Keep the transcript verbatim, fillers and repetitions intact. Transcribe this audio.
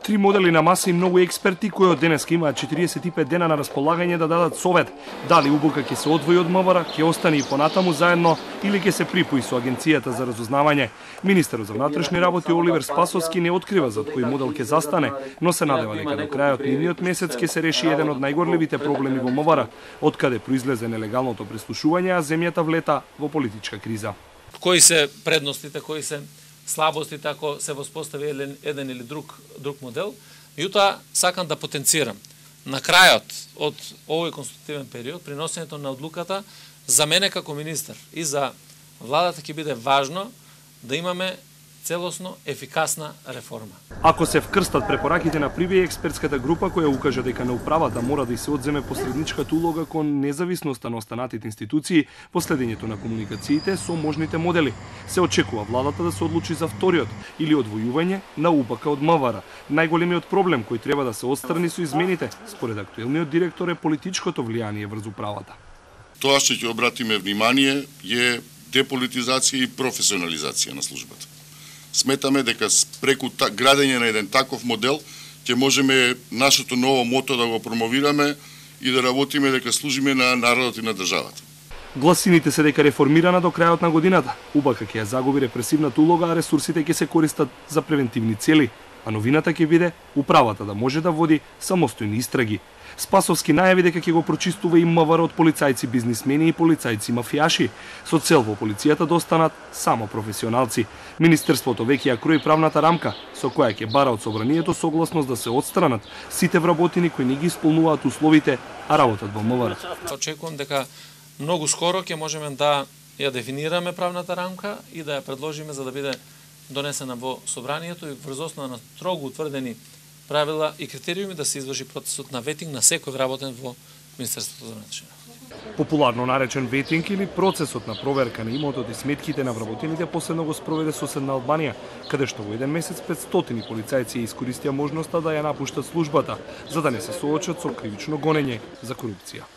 Три модели на маса и многу експерти кои од денеска имаат четириесет и пет дена на располагање да дадат совет дали УБК ќе се одвои од МВР, ќе остане и понатаму заедно или ќе се припои со Агенцијата за разузнавање. Министерот за внатрешни работи Оливер Спасовски не открива за кој модел ќе застане, но се надева дека до крајот на идниот месец ќе се реши еден од најгорливите проблеми во МВР, откаде произлезе нелегалното преслушување, а земјата влета во политичка криза. Кои се предностите, кои се слабостите ако се воспостави еден, еден или друг друг модел, меѓутоа сакам да потенцирам на крајот од овој конститутивен период приносењето на одлуката за мене како министер и за владата ќе биде важно да имаме целосно ефикасна реформа. Ако се вкрстат препораките на Прибе, експертската група која укажа дека на управата мора да се одземе посредничката улога кон независноста на останатите институции по следењето на комуникациите со можните модели, се очекува владата да се одлучи за вториот или одвојување на УБК од МВР. Најголемиот проблем кој треба да се отстрани со измените, според актуелниот директор, е политичкото влијание врз управата. Тоа што ќе обратиме внимание е деполитизација и професионализација на службата. Сметаме дека преку градење на еден таков модел ќе можеме нашето ново мото да го промовираме и да работиме дека служиме на народот и на државата. Гласините се дека реформирана до крајот на годината, УБК ќе ја загуби репресивната улога, а ресурсите ќе се користат за превентивни цели, а новината ќе биде управата да може да води самостојни истраги. Спасовски најави дека ќе го прочистува и МВР од полицајци бизнисмени и полицајци мафијаши, со цел во полицијата да останат само професионалци. Министерството веќе ја крои правната рамка со која ќе бара од собранието согласност да се отстранат сите вработени кои не ги исполнуваат условите, а работат во МВР. Очекувам дека многу скоро ќе можеме да ја дефинираме правната рамка и да ја предложиме за да биде донесена во собранието и врз основа на строго утврдени правила и критериуми да се изврши процесот на ветинг на секој вработен во Министерството за внатрешни работи. Популарно наречен ветинг или процесот на проверка на имотот и сметките на вработените последно го спроведе соседна Албанија, каде што во еден месец петстотини полицајци искористија можноста да ја напуштат службата, за да не се соочат со кривично гонење за корупција.